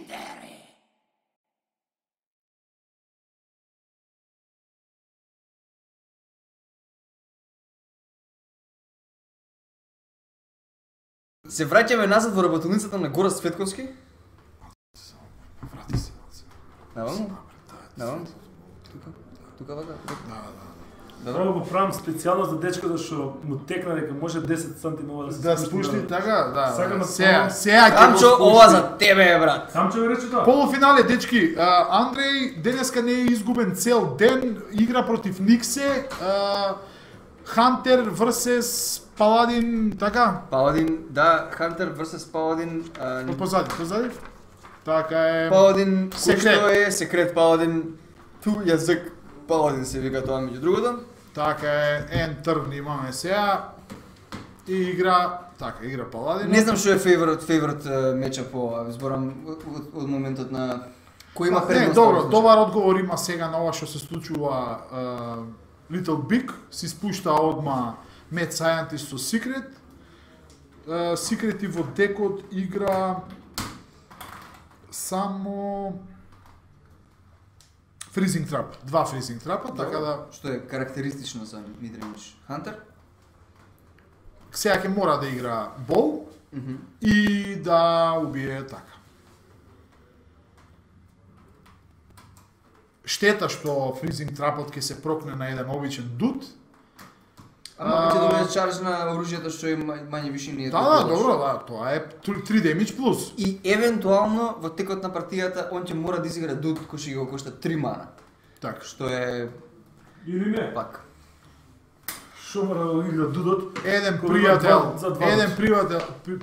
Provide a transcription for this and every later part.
Legendary. Се враќаме назад во работилницата на Гора Светковски. Врати се. Наваму? Наваму? Тука вака? Добро го правам специјално за дечкото што му текна дека може 10 сантима да се Да спушти така, да. Сакам да Сега ќе Камчо, ова за тебе е, брат. Камчо ви рече тоа. Полуфинале, дечки. Андреј денеска не е изгубен цел ден, игра против Никсе. Хантер vs Паладин, така? Паладин, да, Хантер vs Паладин. Позади. Така е. Паладин, Секрет. кој е секрет Паладин. Ту јазик Паладин се вика тоа меѓу другото. Така е, ентер имаме сега. И игра Паладин. Не знам што е фейворит меча по зборам од моментот на кој има предност. Не, добро, добар одговор има сега на ова што се случува. Little Big си спушта одма Mad Scientist со Secret. Secret и во декот игра само Freezing Trap, 2 Freezing Trapa, така да што е карактеристично за Midrange Hunter. сега ќе мора да игра бол и да убие така. Штета што Freezing Trapот ќе се прокне на еден обичен дуд. Ама ќе добие чарж на оружјето што е мање више не е. Да, добро, да, тоа е 3 damage плюс. И евентуално во текот на партијата он ќе мора да изигра дуд кој ќе го кошта 3 мана. Така. Што е Или не? пак. Шо мора да игра дудот? Еден за два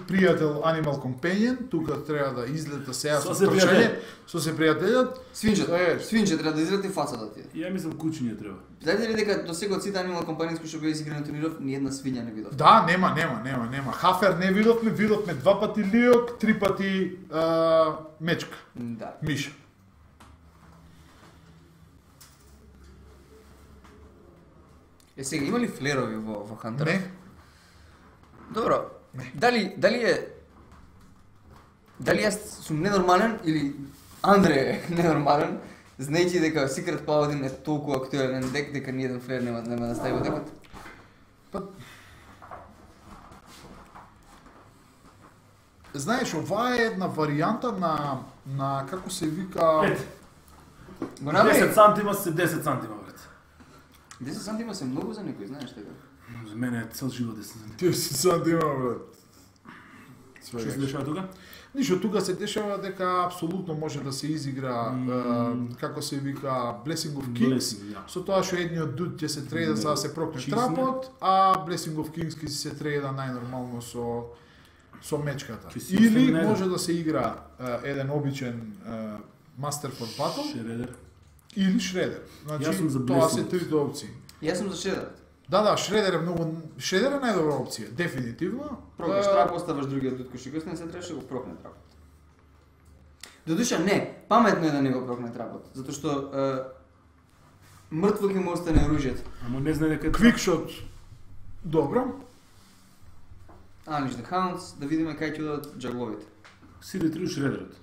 пријател Animal Companion, тука треба да излета сега Со со се трчање, со се пријателјот. Свинче треба да изради фацата ти. Ја мислам кучиње треба. Знаете ли дека до сега од сите Animal Companions кои што беа изиграни на турниров, ни една свиња не видов? Да, нема. Хафер не видовме 2 пати лиок, 3 пати мечка, Да. миша. Е сега има ли флерови во Хантер? Не. Добро. Дали јас сум ненормален или Андре е ненормален, знаејќи дека Secret Paladin е толку актуелен дек дека ни еден флер нема да стави во декот? Знаеш, ова е една варијанта на како се вика... Го направи? 10 сантима се 10 сантима, брат. 10 сантима се многу за некој, знаеш така? За мене е цел живот 10 сантима. 10 сантима, брат. Што се дешава тука? Ништо, тука се дешава дека апсолутно може да се изигра како се вика Blessing of Kings. Со тоа што едниот дуд ќе се трейда за да се прокне трапот, а Blessing of Kings ќе се трейда најнормално со мечката. Или може да се игра еден обичен Master for Battle Шредер. или Шредер. Значи тоа се трите опции. Јас сум за Шредер. Да, Шредер е многу... Шредер е најдобра опција, дефинитивно. Прокнеш трап, оставаш другиот дуд кој што косне, се требаше да го прокне трапот. Додуша не, паметно е да не го прокне трапот, затоа што мртво ќе му остане оружјето. Ама не знае дека Квикшот, добро. Unleash the Hounds, да видиме кај ќе одат джагловите. Сиде три Шредерот.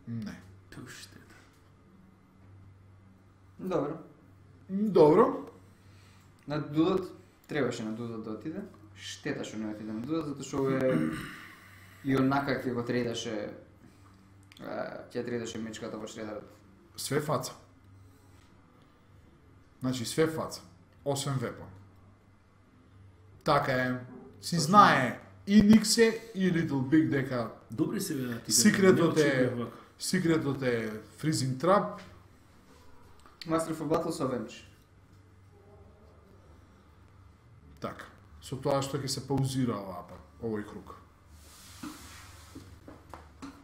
Не. Пуште. Добро. Добро. На дудот, требаше на дудот да отиде. Штета што не отиде на дудот, затоа што е и онака ќе го трейдаше мечката во Шредерот. Све фаца. Значи све фаца, освен вепон. Така е, си знае и Никсе и Little Big дека Добри се бе. секретот е Freezing Trap. Master for Battle со Avenge. Така, со тоа што ќе се паузира овој круг.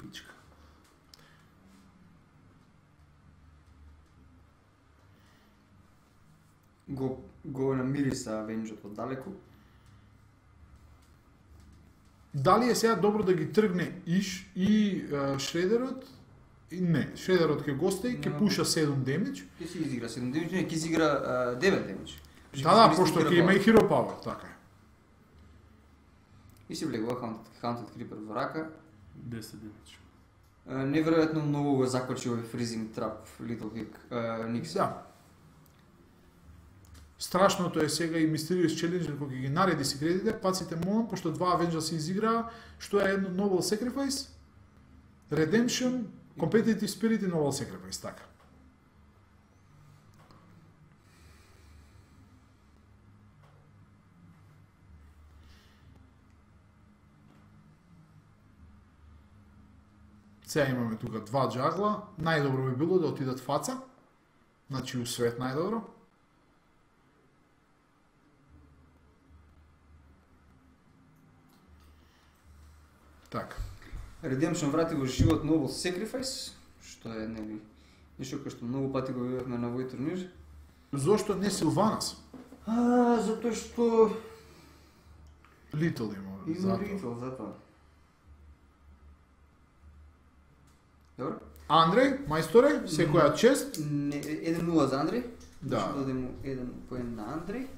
Пичка. Го намириса Avenge-от оддалеку. Дали е сега добро да ги тргне и Шредерот? Не, Шредерот ќе го остави, ќе пуша 7 демидж. Ќе си изигра 7 демидж, не, ќе си игра 9 демидж. Да, пошто ќе има и Hero Power, така е. И си влегува Haunted Creeper во рака. 10 демидж. Неверојатно многу го закочи овој Freezing Trap Little Big Никс. Да. Страшното е сега и Mysterious Challenger кога ги нареди секретите, паците молам, пошто два Avengers се изиграа, што е едно Noble Sacrifice, Redemption, Competitive Spirit и Noble Sacrifice, така. Сега имаме тука два джагла, најдобро би било да отидат фаца, значи у свет најдобро. Така. Redemption врати во живот Noble Sacrifice, што е нели нешто кој што многу пати го видовме на овој турнир. Зошто не Силванас? Затоа што Литл има затоа. Литл затоа. Добро. Андреј, мајсторе, секоја чест. 1-0 за Андреј. Да. Што дадем 1 поен на Андреј.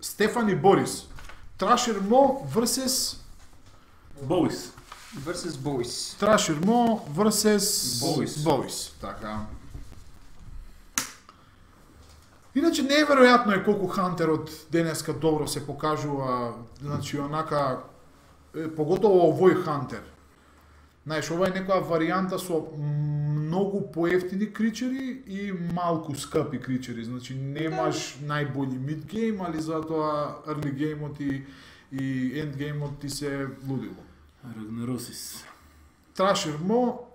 Стефани Борис. Трашер Мо versus Боуис. Versus Boys. Трашер Мо versus Boys. Boys. Така. Иначе неверојатно е колку Хантерот денеска добро се покажува, значи онака поготово овој Хантер. Знаеш, ова е некоја варијанта со многу поевтини кричери и малку скъпи кричери. Значи немаш најбољи мидгейм, али затоа early геймот и endgame-от ти се лудило. Рагнаросис. Трашер Мо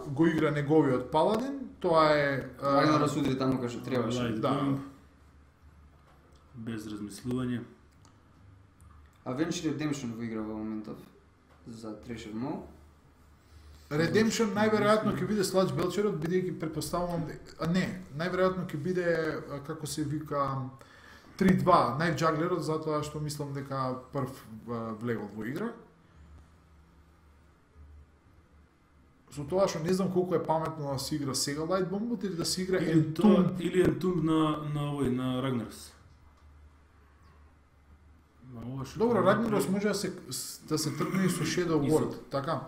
го игра неговиот паладин, тоа е Рагнарос удри таму кај што требаше. Да. Без размислување. Avenged Redemption го игра во моментов за Treasure Mo. Redemption најверојатно ќе биде Слач Белчерот, бидејќи претпоставувам најверојатно ќе биде како се вика 3-2 најджаглерот, затоа што мислам дека прв влегол во игра. Со тоа што не знам колку е паметно да се игра сега Light Bombot или да се игра Entomb. Или Entomb на Рагнарос. Добро, Рагнарос може да се тргне и со Shadow Word, така.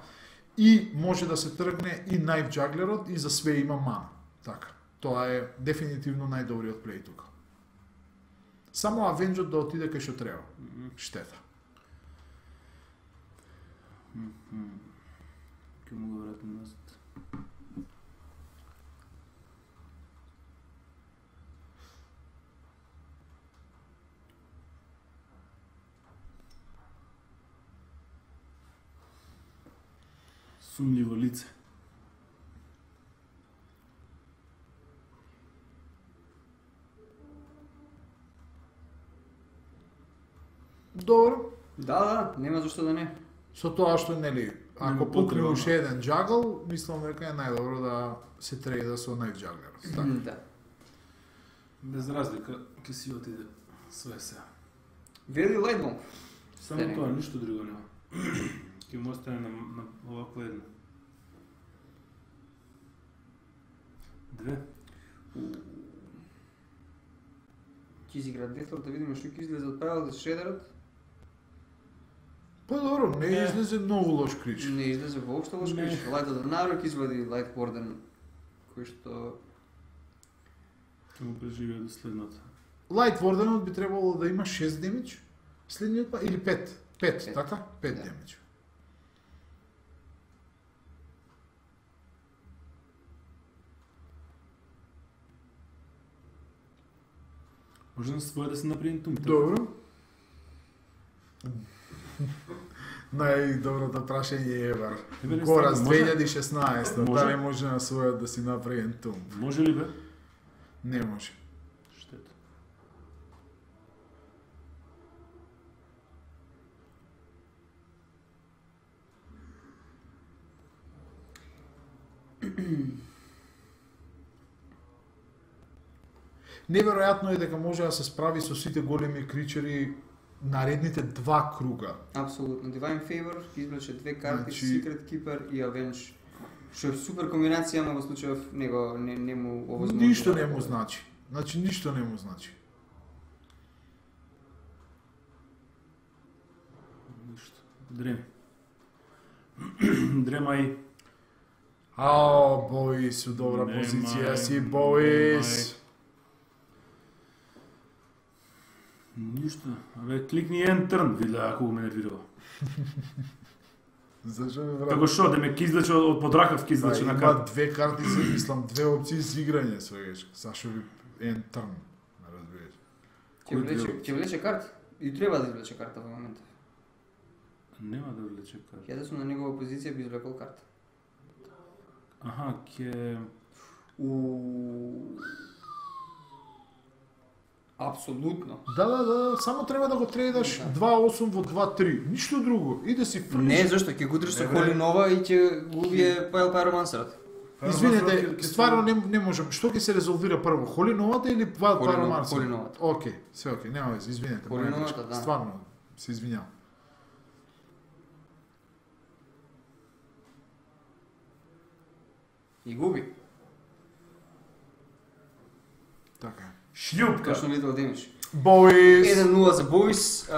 И може да се тргне и Knife Jugglerот и за све има мана. Така. Тоа е дефинитивно најдобриот плей тука. Само Avenged да отиде кај што треба. Штета. Ке му го вратим назад. Сумливо лице. Добро. Да, нема зашто да не. Со тоа што нели, ако Нема пукне потреба, уште еден джагл, мислам дека е најдобро да се трейда со Knife Juggler. Така. Да. Без разлика, ке си отиде све се. Вели Light Bomb. Само тоа, ништо друго нема. Ке му остане на овако едно. 2. Ќе изигра Deathlord да видиме што ќе излезе од правилот за Shredderот. Па добро, не излезе многу лош крич. Не излезе воопшто лош крич. Light of the Narok извади Light Warden, кој што Ке му преживее до следното. Light Wardenот би требало да има 6 демидж, следниот па или 5. 5, така? 5 Да. демидж. Може на своје да се направи Entomb. Добро. Најдоброто прашање е евар. Еве, Гораз може? 2016, Може? дали може на својот да си направи Entomb? Може ли бе? Не може. Штета. Неверојатно е дека може да се справи со сите големи кричери наредните 2 круга. апсолутно Divine Favor ќе извлече 2 карти, Значи- Secret Keeper и Avenge. Што е супер комбинација, но во случајов него не му овозможува. Ништо не му значи. Значи ништо не му значи. Ништо. Дреми. Дремај. Ао, Боис, у добра позиција си, Боис. Ништо. Абе, кликни Enter, види ако ме нервирало. Зашо ме брат? Како шо, да ме кизлече од подракавски излече на Има карта. две карти за мислам, две опции за играње, свегаш. Зашо ви Enter, не разбираш. Ќе влече карти. И треба да извлече карта во моментов. Нема да влече карта. Ја да сум на негова позиција би извлекол карта. Аха, Апсолутно. Да, само треба да го трейдаш 2-8 во 2-3. Ништо друго. И да си фрлиш. Не, зашто ќе го удриш со Коли Нова и ќе го убие Пайл Пайромансерот. Извинете, стварно не можам. Што ќе се резолвира прво? Холи новата или Wild Pyromancer? Холи новата. Океј, се океј, нема веќе, извинете. Холи моја новата, грешка. да. Стварно, се извинјавам. И губи. Така е. Шљупка. Точно Little Damage. Боис! 1-0 за Боис.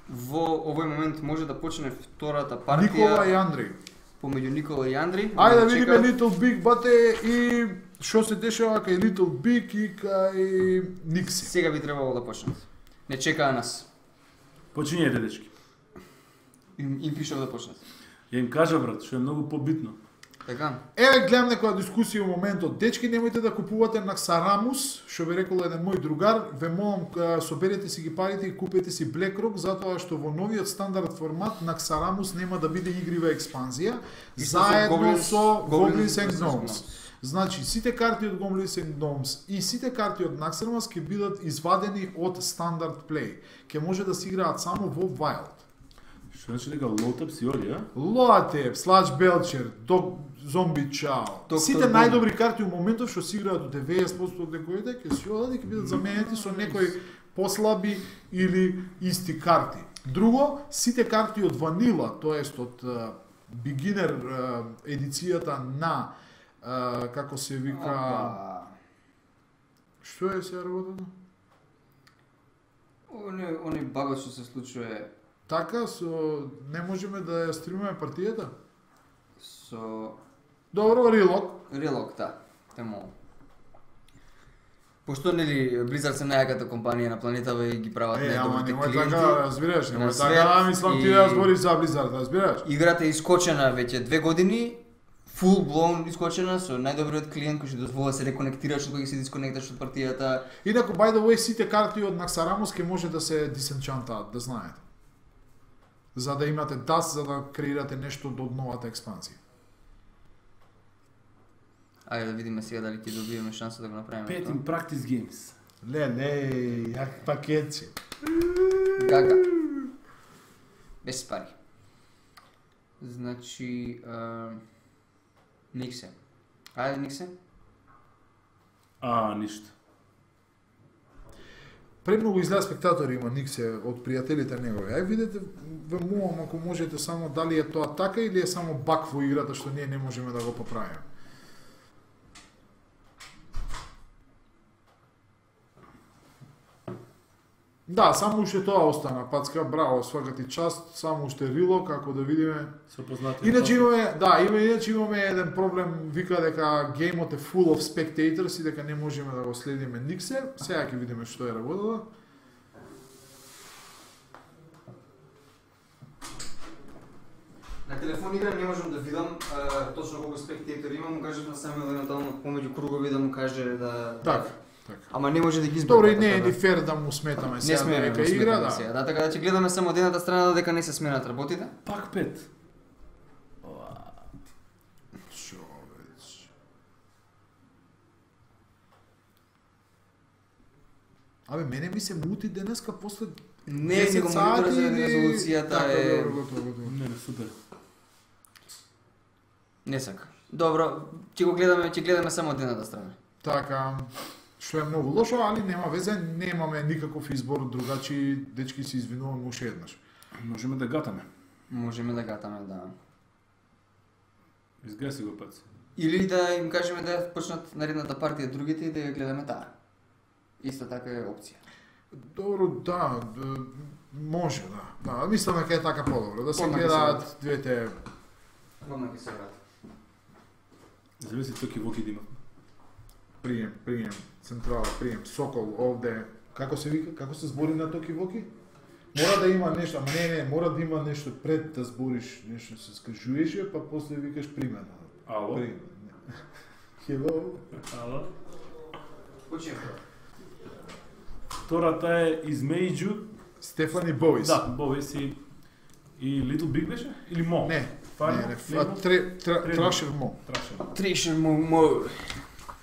Во овој момент може да почне втората партија. Никола и Андреј. Помеѓу Никола и Андри. Ајде да видиме Little Big бате и што се дешава кај Little Big и кај Никси. Сега би требало да почнат. Не чекаа нас. Почињете, дечки. Им пишав да почнат. Ја им кажа, брат, што е многу побитно. Така? Еве гледам некоја дискусија во моментот. Дечки, немојте да купувате Naxxramus, што би рекол еден мој другар. Ве молам, соберете си ги парите и купете си BlackRock, затоа што во новиот стандард формат Naxxramus нема да биде игрива експанзија, заедно со Goblins and Gnomes. Значи, сите карти од Goblins and Gnomes и сите карти од Naxxramus ќе бидат извадени од стандард плей. Ќе може да се играат само во Wild. Што значи дека Лотап си оди, а? Лоатеп, Слач Белчер, Зомби Чао. Сите најдобри карти у моментов што се играат од 90% од декоите ќе се одат и ќе бидат заменети со некои послаби или исти карти. Друго, сите карти од Ванила, тоест од beginner едицијата на како се вика што е се работата? Оној багот што се случува Така, не можеме да ја стримаме партијата? со Добро, Релок, да. Те молам. Пошто нели Blizzard се најаката компанија на планетава и ги прават најдобрите клиенти. Така, разбираш, на немој свет така, мислам ти и- да збориш за Blizzard, разбираш? Играта е искочена веќе 2 години, full blown искочена со најдобриот клиент кој ќе дозволи да се реконектираш кога ќе се дисконекташ од партијата. Инаку, by the way, сите карти од Naxxramus ќе може да се disenchantаат, да знаете. За да имате DAS, за да креирате нешто до новата експанзија. Ајде да видиме сега дали ќе добиеме шанса да го направиме. Pet тоа. in Practice Games. Ле, јак пакетче. Гага. Без пари. Значи, Никсе. Ајде Никсе. Ништо. Премногу изгледа спектатори има Никсе од пријателите негови. Ај видете, ве молам ако можете само дали е тоа така или е само баг во играта што ние не можеме да го поправиме. Да, само уште тоа остана, Пацка, браво, свака ти част, само уште Рилок, ако да видиме. Со познати. Иначе имаме еден проблем, вика дека геймот е full of spectators и дека не можеме да го следиме Никсе. Сега ќе видиме што е работата. На телефон игра не можам да видам точно колку спектатори има, му кажав на Самуел евентуално помеѓу кругови да му каже да... Така. Ама не може да ги избега. Добро, и не е ни фер да му сметаме Не сега сме дека игра, да. Сега. Да, така да ќе гледаме само од едната страна дека не се сменат работите. Пак 5. Човеч. Абе, мене ми се мути денеска после Не е го монитора за резолуцијата така, е... добро, готово. Не, супер. Не сака. Добро, ќе гледаме само од едната страна. Така, што е многу лошо, али нема везе, немаме никаков избор, другачи дечки се извинувам уште еднаш. Можеме да гатаме. Можеме да гатаме, да. Изгаси го пац. Или да им кажеме да почнат наредната партија другите и да ја гледаме таа. Исто така е опција. Добро, да, Може, да. Да, мислам дека е така подобро, да се Одма ќе гледаат двете... Одма ќе се врати. Зависи токи воки да има. Прием, централа, прием, Сокол, овде... Како се вика, како се збори на токи воки? Мора да има нешто, ама не, мора да има нешто пред да збориш, нешто се скажуваш, па после викаш примен. Ало? Hello. Ало? Почнем. Втората е измеѓу Стефани Боис. Да, Боис и Little Big беше? Или Мо? Не, Фармо? Трашер Мо. Трешер му.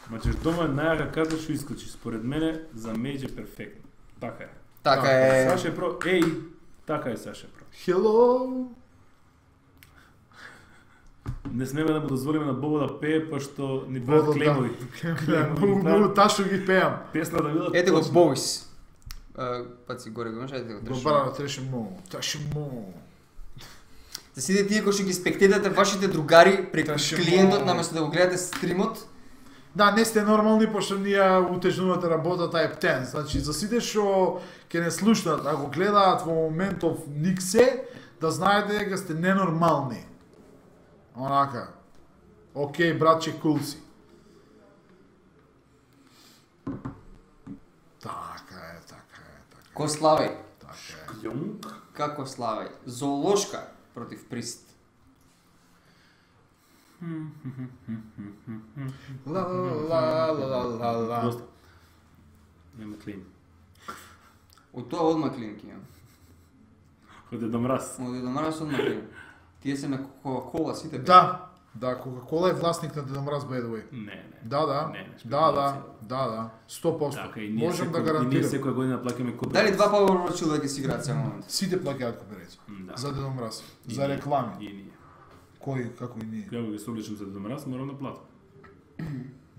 Значи дома е најака карта што искочи. Според мене за Мејдж е перфектно. Така е. Така е. Саше Про, така е Саше Про. Hello. Не смеме да му дозволиме на Бобо да пее, пошто ни прават клеймови. Многу ташно ги пеам. Песна да видат. Ете го Боис. Пат си горе го имаш, ете го Трешер. Добра, Трашер Мо. Трашер Мо. Да сидите тие кои што ги спектедате вашите другари преку Трашер клиентот Мо. наместо да го гледате стримот. Да, не сте нормални, пошто ние утежнувате работата е птен. Значи, за сите што ќе не слушнат, ако гледаат во моментов никсе, да знаете дека сте ненормални. Онака. Океј, братче, кул си. Така е. Ко славеј? Така е. Јонг? Како славеј? Зоолошка против Прист. Ла. Доста. Нема клейм. Од тоа одма клинки имам. Оде да мраз. Од Дедо Мраз одма клинки. Тие се на Кока-Кола сите. Да, Кока-Кола е власник на Дедо Мраз, by the way. Не. Да. Не, 100%. Така, и ние Можам да и ние гарантирам. секоја година плаќаме код. Дали два Power да ги си играат само момент? Сите плаќаат кооперација. Да. За Дедо Мраз, И за ние. реклами. И ние. Кој, како и ние? Кога ги се облечам за домраз, морам да платам.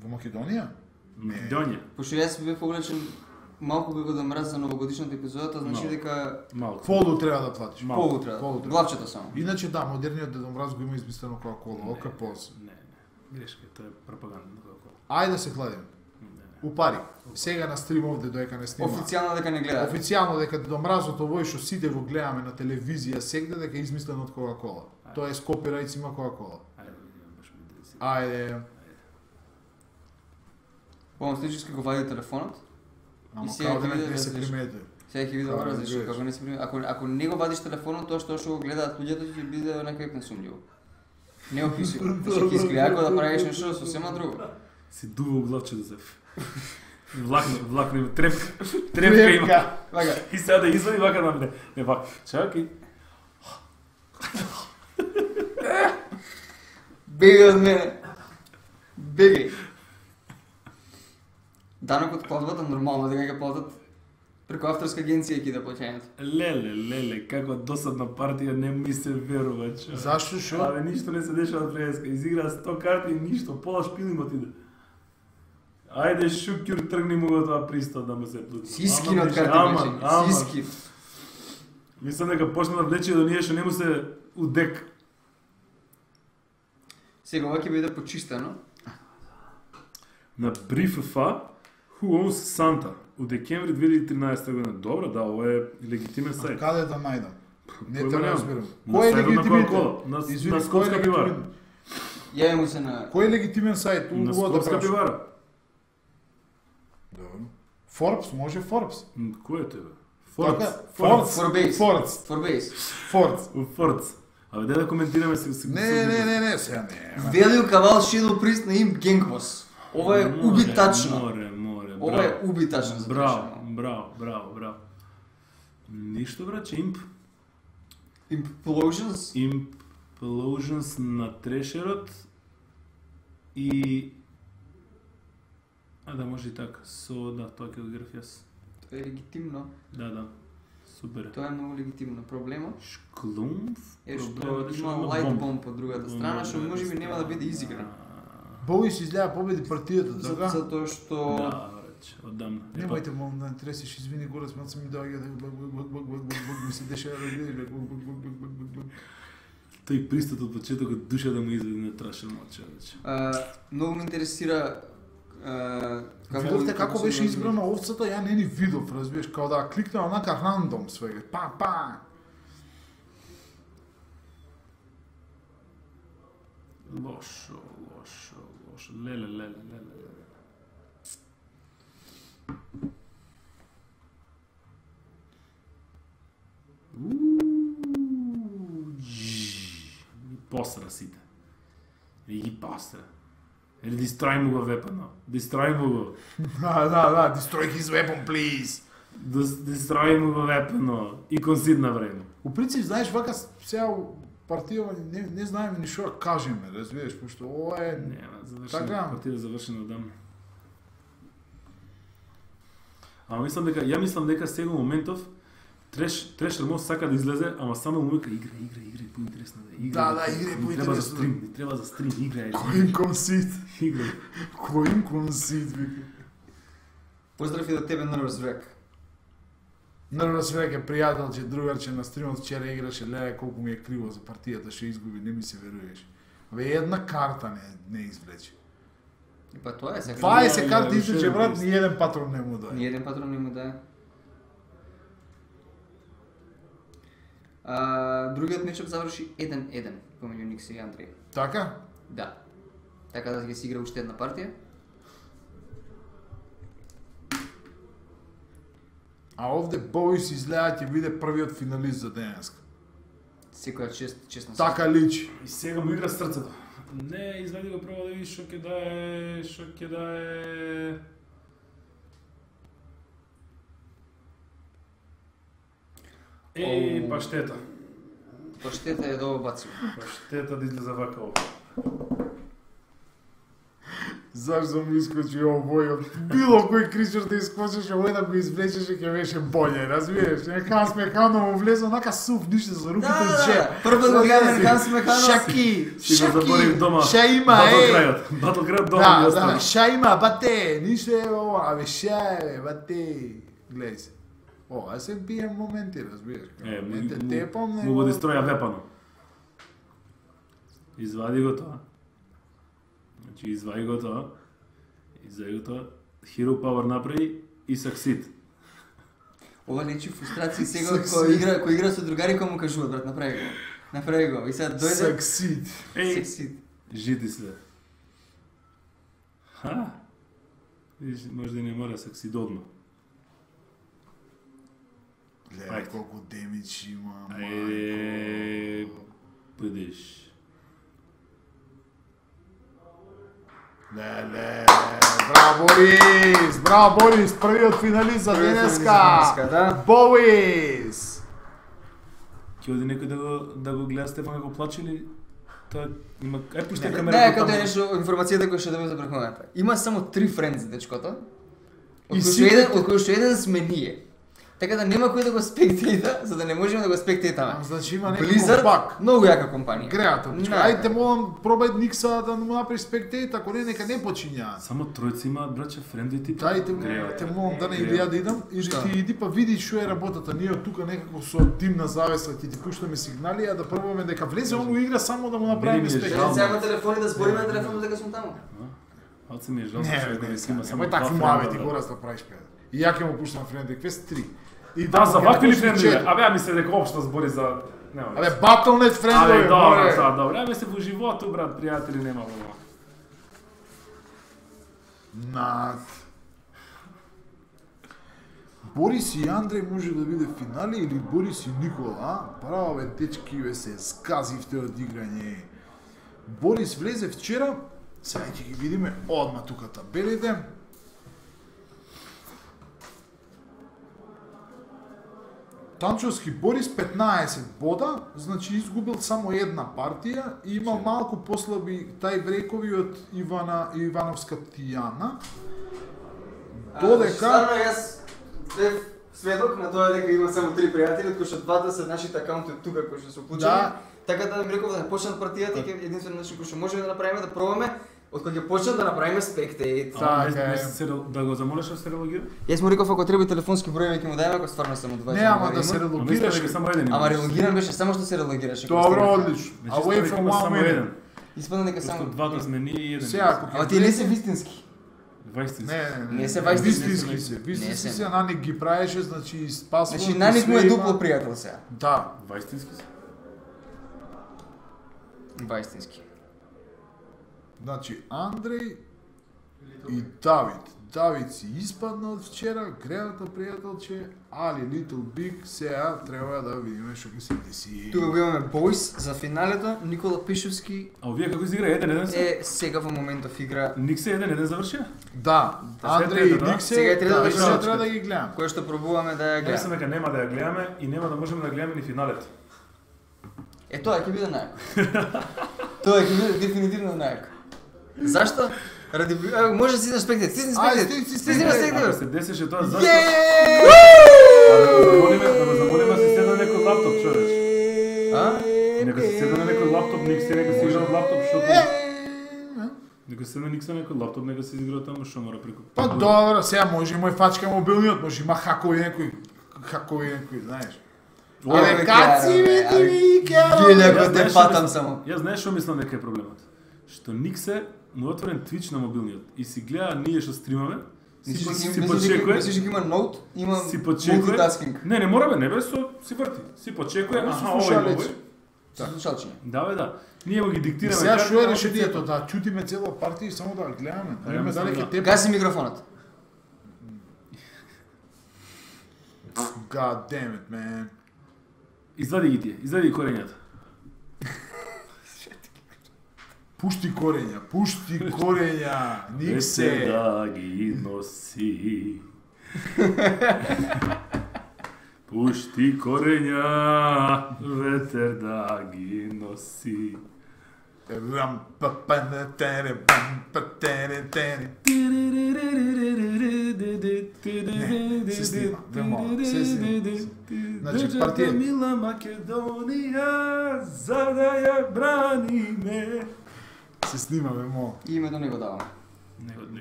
Во Македонија? Македонија. Пошто јас бев облечен малку би го да мраз за новогодишната епизодата, значи Малку. дека Малку. Полу треба да платиш. Малку. полу треба. Полу треба. Главчето само. Иначе да, модерниот Дедо Мраз го има измислено Кока-Кола, ока поз. Не. Грешка, тоа е пропаганда на Кока-Кола. Ајде да се кладем. Не. Упари. Сега на стрим овде доека не снима. Официјално дека не гледаат. Официјално дека Дедо Мразот овој што сите го гледаме на телевизија сегде дека е измислено од Кока-Кола. Тоа е скопирајц има Кока-Кола. Ајде, да видиме, баш ме интересира. Ајде. Помослички го вади телефонот. Ама сега као да ќе не види се различно. примети. Сега ќе види Како добро да зашто гледаш? како не се прими. Ако не го вадиш телефонот, тоа што го гледаат луѓето ќе биде некај несумњиво. Не описува. Значи ќе изгледа како да правиш нешто сосема друго. Си дува главче да се... Влакне има трепка има. Вака, И сега да извади вака нам не. Не вака. Чакај. бегај од мене. Бегај. Данокот платвата нормално дека ќе платат преку авторска агенција ќе да плаќањето. Леле, како досадна партија не ми се верува, чо. Зашто шо? Абе, ништо не се дешава од Фреска. Изигра 100 карти и ништо, пола шпил им отиде. Ајде, Шукјур, тргни му го тоа пристот да му се плати. Сискин од карти Ама, влечење. Сискин. Мислам дека почна да влече до ние што не му се удек. Сега ова ќе биде почистено. На BriefFA, Who Owns Santa? У декември 2013 година. Добро, да, ова е легитимен А сайт. каде да најдам? Не Појма те немам. разбирам. На Кој е сајтот на легитимен? Coca-Cola, на Извини, кој е Скопска пивара. легитимен? Јави му се на Кој е легитимен сајт? На Уго да Скопска прашам. пивара. Добро. Forbes, може Forbes. Кој е тебе? Така, Фордс. Forbes. Forbes. Forbes. Forbes. У Фордс. Абе, дай да коментираме се. Не, сега не. Value Кавал Shadow Priest на им Генгвос. Ова е убитачно. Море. Ова е убитачно за Браво. Ништо, браче, Implosions. Implosions на Трешерот и... А да, може и така. Да, тоа ќе го греф јас. Тоа е легитимно. Да. Супер. Тоа е многу легитимно. Проблемот Шклумф? е што Проблемот има што light бомб. bomb од другата страна, што можеби нема да биде изигран. Боис изгледа победи партијата, така? Затоа што Да, браче, одамна. Немојте молам да не тресиш, извини го, размат се ми доаѓа да ми се дешава да Тој пристот од почетокот душа да му изведе на трашен мача, браче. многу ме интересира Видовте како беше избрана овцата, ја не ни видов, разбираш, као да кликнав онака рандом свега. Па. Лошо. Леле. Посра сите. И ги посра. Или дистрој му го вепано. Дистрој му го. Да, destroy his weapon, please. Дистрој му го вепано. И консид на време. У принцип, знаеш, вака сега партијава не знаеме ни што кажеме, разбираш, пошто ова е... Нема, завршена, партија завршена одамна. Ја мислам дека сега моментов Трешер може сака да излезе, ама само му вика игра, поинтересно да игра. Да, игра поинтересно. Не треба за стрим, игра. Кој консид? Игра. Кој консид, вика. Поздрав и до тебе, Nervous Wreck. Nervous Wreck е пријателче, другарче на стримот, вчера играше, леле колку ми е криво за партијата, што изгуби, не ми се веруваш. Една карта не извлече. И па тоа е сега. 20 карти извлече, брат, ни еден патрон не му даде. Ни еден патрон не му даде. Другиот мечап заврши 1-1 помеѓу Никси и Андреј. Така? Да. Така да ќе се игра уште една партија. А овде Боис изгледа ќе биде првиот финалист за денеска. Секоја честно. Така личи. И сега му игра срцето. Не, извади го прво да видиш што ќе дае. Паштета. Паштета е долу бацил. Паштета да излезе вака ова. Зашто му искочи овој? Било кој кричер да искочеше, овој да го извлечеше ќе беше боле, разбираш? Ханс Механо му влезе онака сув, ништо за руките од ше. Прво го гледам Ханс Механо. Шаки. Си го заборив дома. Ша има, Батл крајот дома ми остави. Ша има, бате, ништо е ова, абе ша е, бате. Гледај се. Ова се бијам моменти, разбираш? Му го дистроја вепано. Извади го тоа. Значи, извади го тоа. Hero Power направи и succeed. Ова личи фрустрација сега кој игра со другари кој му кажуваат, брат, направи го. И сега дојде Succeed. Жити се. Видиш, може да не мора succeed одно. Леле, колку демидж има, мајко. Бъдеш. Леле, браво Борис, првиот финалист за денеска. Борис. Ќе оди некој да го гледа Стефан како плаче или тоа има пуште камера. Не, како е нешто информацијата која ќе добие за преконата. Има само 3 френдс дечкото. Од кои што еден сме ние. Така да нема кој да го спектејта, за да не можеме да го спектејтаме. Значи има некој Blizzard, бак. многу јака компанија. Креативно. Ајде молам пробај Никса да му направи спектејт, ако не нека не почиња. Само тројца имаат браќа френди тип. Дајте те молам да не или ја да идам, или ти иди па види што е работата. Ние од тука некако со димна завеса ќе ти пуштаме сигнали, а да пробаме дека влезе он игра само да му направиме спектејт. Сега телефони да збориме на телефонот дека сум таму. Аце ми е жал што го има само. Мој такви муавети горас да правиш пе. И ја ќе му пуштам френди квест 3. И да, за вакви ли френдови? Абе, ја мисле дека општо збори за... Абе, Battle.net френдови, море! Добре, абе се во животу, брат, пријатели, нема во. Над. Борис и Андреј може да биде финали или Борис и Никола, а? Право, бе, дечки, бе, се сказивте од играње. Борис влезе вчера, сега ќе ги видиме одма тука табелите. Танчовски Борис 15 бода, значи изгубил само една партија и имал малку послаби тајбрекови од Ивановска Тијана. Додека... Стварно, јас бев сведок на тоа дека има само 3 пријатели, од кои што двата се нашите акаунти од тука кои што се уклучени. Да. Така да ми реков да не почнат партијата и единствено начин кој што можеме да направиме да пробаме од кога ќе почнат да направиме спектејт. Да го замолиш да се релогира? Јас му реков ако треба телефонски број ќе му дајме ако стварно само 20. Не, ама да се релогираш. Ама релогиран беше само што се релогираше. Добро, одлично. Away from one minute. Испадна дека само двата сме ние и еден. Сега, ама ти не си вистински. Вајстински. Не се вајстински. Вистински се, Наник ги правеше, значи спасува. Значи Наник му е дупло пријател сега. Да. Вајстински се. Вајстински. Значи Андреј и Давид. Давид си испадна од вчера, грената пријателче, али Little Big сега треба да видиме што ќе се деси. Тука го имаме Бойс за финалето, Никола Пишовски. А овие како изигра 1-1 се? Сега во моментов игра. Никсе 1-1 завршија? Да, Андреј и Никсе, сега треба да сега треба да ги гледам. Кој што пробуваме да ја Гледаме. гледаме. Дека нема да ја гледаме и нема да можеме да гледаме ни финалето. Тоа ќе биде најако. Тоа ќе биде дефинитивно најако. Зашто? Ради може да си на спектет. Стисни спектет. Стисни на Ако спектет. се десеше тоа зашто? Да го замолиме се седна некој лаптоп, човеч. Нека се седна на некој лаптоп, нека се игра од лаптоп, што Нека се седна Никсе на некој лаптоп, нека се игра таму, што мора преку. Па добро, сега може мој фачка мобилниот, може има хакови некој, знаеш. Оле, каци ми Геле го те патам само. Јас знаеш што мислам дека е проблемот? Што Никсе му отворен Twitch на мобилниот и си гледа ние што стримаме, си почекува. Мислиш дека има ноут, има си почекува. мултитаскинг. Не мора бе, не бе, си врти. Си почекува, Слушалчиња. Да. Ние го ги диктираме. Сега што е решението да чутиме цела партија и само да гледаме. Да видиме дали ќе те Гаси микрофонот. God damn it, man. Извади ги тие, извади ги корењата. Пушти корења, Никсе. Да ги носи. Пушти корења, ветер да ги носи. Рам па па на тере пам па тере тере. Се снима, се снима. Значи партија Мила Македонија, за да ја браниме. се снима вемо. И името не го даваме.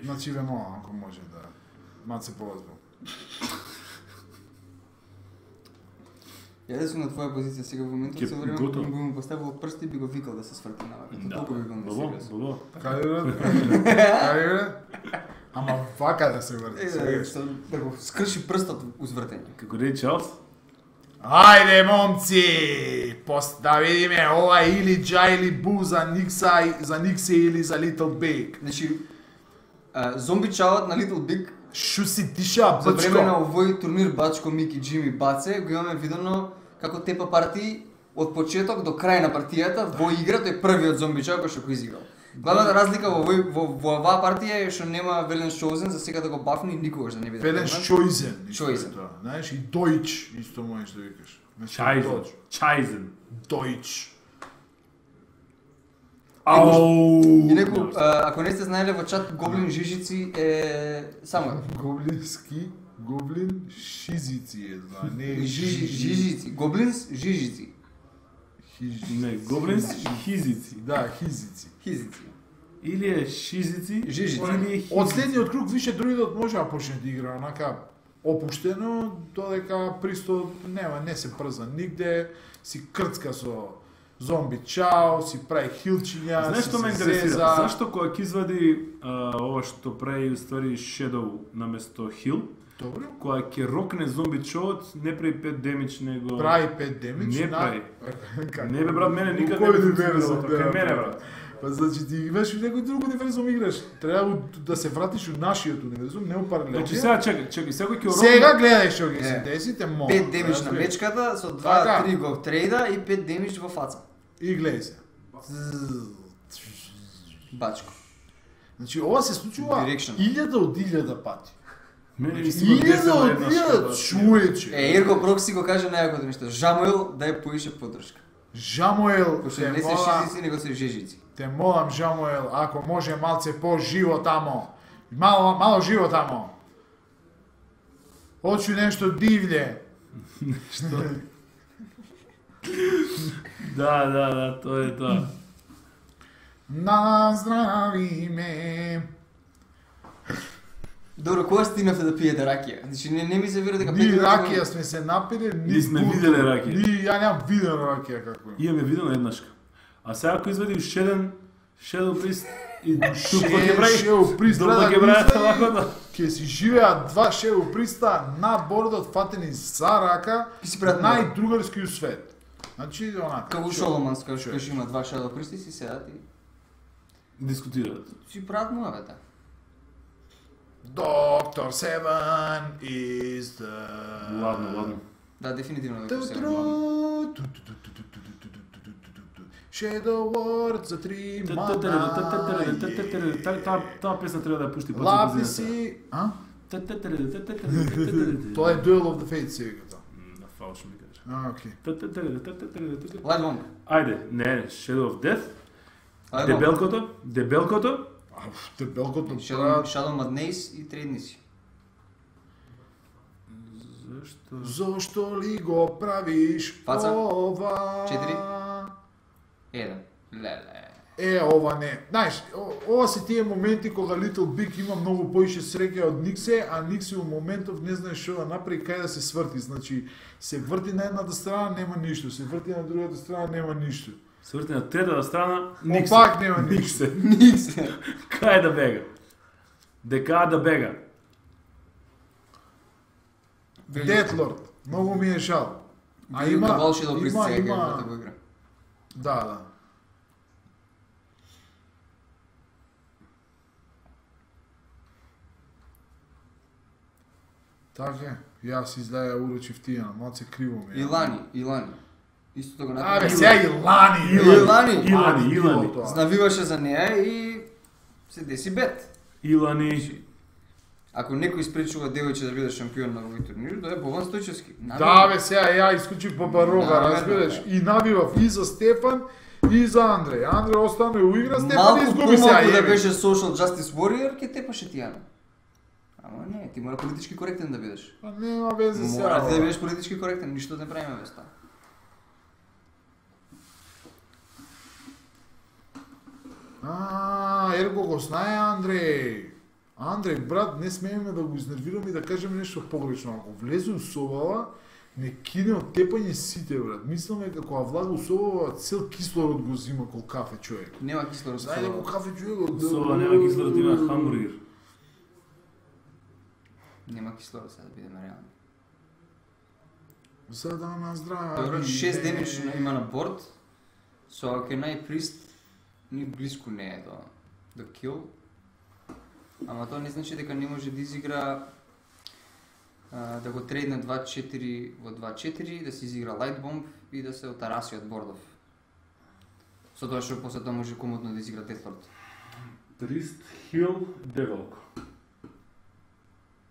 Значи вемо ако може да маце повозбо. Јас сум на твоја позиција сега во моментот, со време би му поставил прсти и би го викал да се сврти на вака. Толку би бил несериозен. Бабо. Кај ама вака да се врти. Да го скрши прстот узвртење. Како рече Чарлс? Ајде, момци! Да видиме ова или Джа или Бу за Никсе или за Little Big. Значи, зомби чалот на Little Big Шо си тиша, за време на бачко? овој турнир Бачко, Мики, Джими, Баце, го имаме видено како тепа партии од почеток до крај на партијата во игра, тој првиот зомби чалот кој што го изиграл. Главната разлика во оваа партија е што нема Велен Шоузен, за сега да го бафни никогаш да не биде. Велен Шоизен. Шоизен. Знаеш, и Дојч, исто можеш да викаш. Чајзен. Дојч. Ау! И некој, ако не сте знаеле во чат, Гоблин Жижици е само Гоблин Шизици е, да, не Жижици. Гоблинс Жижици. Не, Гоблинс Хизици. Да, Хизици. Хизици. Или е Шизици, Жижици. или е Хизици. Од следниот круг више другиот може да почне да игра онака опуштено, додека присто не се прза нигде, си крцка со зомби чао, си прави хилчиња, Знаеш што ме интересира? Зашто кога ќе извади ова што прави уствари Shadow наместо Хил, Добро. кога ќе рокне зомби чоот, не прави 5 демидж, него Прави 5 демидж. Не прави. Како? Не бе брат, мене никад Кој не универзум, функционира да, кај мене да. брат. Па значи ти имаш некој друг универзум играш. Треба да се вратиш у нашиот универзум, не у паралелниот. Значи сега чекај, секој ќе Сега гледај што ќе се деси, те мога. 5 демидж на мечката, со 2-3 го трейда и 5 демидж во фаца. И гледај се. Бачко. Значи ова се случува Direction. 1000 од 1000 пати. Мене ми се го 1000 од еднаш. 1000 чуече. Ирко Прокси го каже најакото нешто. Жамуел дај поише поддршка. Жамуел, Пошто те не се молам, шизици, него се жежици. те молам Жамуел, ако може малце по-живо тамо. Мало живо тамо. Hoću nešto divlje. Да, тоа е тоа. Наздрави ме. Добро, кога стигнавте да пиете ракија? Значи не ми се вера дека Ни ракија сме се напили, ни Ние сме буту. виделе ракија. Ни, ја немам видено ракија како е. Имаме видено еднашка. А сега ако извадиш Shadow Priest, И тупо ќе прави шеу приста тупо ќе прави вако да. Ке си живеат два шеу приста на бордот фатени за рака, најдругарски у свет. Значи онака. Како Шоломанс, кога што има два шеу присти си седат и Дискутираат. си прават муавета. Доктор Seven is the... Ладно. Да, дефинитивно Доктор Seven. Shadow World за 3 мана. Таа песна треба да ја пушти Лапи си... А? Тоа е Duel of the Fates сега тоа. На фалш ми кажа. Окей. Light Bomb. Ајде, не, Shadow of Death. Light Bomb. Дебелкото. Дебелкото Shadow Madness и Тредниси. Зошто ли го правиш Фаца? ова? 1. Леле. Ова не. Знаеш, ова се тие моменти кога Little Big има многу поише среќа од Никсе, а Никсе у моментов не знае што да направи, кај да се сврти. Значи, се врти на едната страна, нема ништо, се врти на другата страна, нема ништо. Се врти на третата страна, Никсе. Пак нема ништо. Никсе. Кај да бега? Дека да бега? Детлорд. Многу ми е жал. А Има има Волшебно присцега има да го игра. Да. Така, јас издаја урочив тие, малце криво ми е. Илани. Истото го Абе, направи. сега Илани. Знавиваше за неа и се деси бет. Илани. Ако некој испречува девојче да биде шампион на овој турнир, да е Бован Стојчевски. Да, бе, сега ја исклучив по Барога, Да, разбираш? да. И набивав и за Стефан, и за Андреј. Андреј остане у игра, Стефан Малку изгуби сега. помалку да еве. беше Social Justice Warrior, ке тепаше Тијана. Ама не, ти мора политички коректен да бидеш. Па нема везе сега. Мора ти да бе. бидеш политички коректен, ништо не правиме без тоа. Ерго го знае Андреј. Андреј, брат, не смееме да го изнервираме и да кажеме нешто погрешно. Ако влезе у собава, не кине од тепање сите, брат. Мисламе како влага у собава, цел кислород го зима кол кафе човек. Нема кислород со Знаете собава. ко кафе човек? Сова нема кислород, има хамбургер. Нема кислород, сега да бидеме реални. За да наздрави. Добро, 6 демидж има на борд, со Аркенай Прист ни близко не е до кил. Ама тоа не значи дека не може да изигра да го трейдне 2-4 во 2-4, да се изигра Light Bomb и да се отараси од бордов. Со тоа што после тоа може комодно да изигра Deathlord. Прист, Хил, Девелко.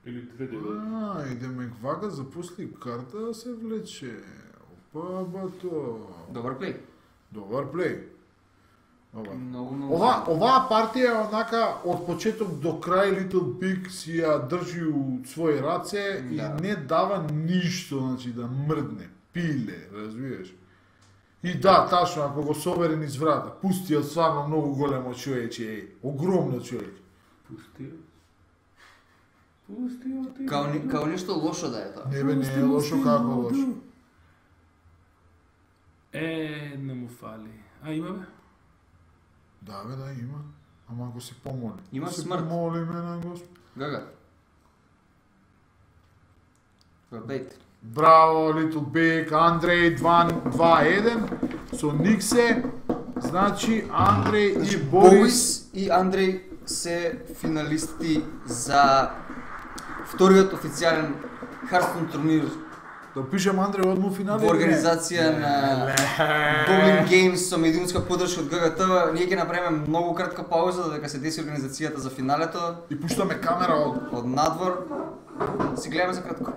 Или две девелки. Идеме вака, запусли карта да се влече. Опа, бато. Добар плей. Добар плей. Многу. Оваа партија е онака од почеток до крај Little Big си ја држи у своји раце и Да. не дава ништо, значи да мрдне, пиле, разбираш? И да, ташно, ако го собере низ врата, пусти од стварно многу големо човече, огромно човече. Пусти. Као нешто лошо да е тоа. Не бе, не е лошо, како лошо. Не му фали. А има бе? Да бе, да има. Ама ако се помоли. Има се смрт. помоли ме на Господ. Гага. Бейт. Браво, Little Big, Андреј 2-1 со Никсе. Значи Андреј и Борис. Борис и Андреј се финалисти за вториот официјален Hearthstone турнир Да пишем Андреј одму финале. во организација на Bowling Games со медиумска поддршка од ГГТ. Ние ќе направиме многу кратка пауза додека се деси организацијата за финалето И пуштаме камера од од надвор. Си гледаме за кратко.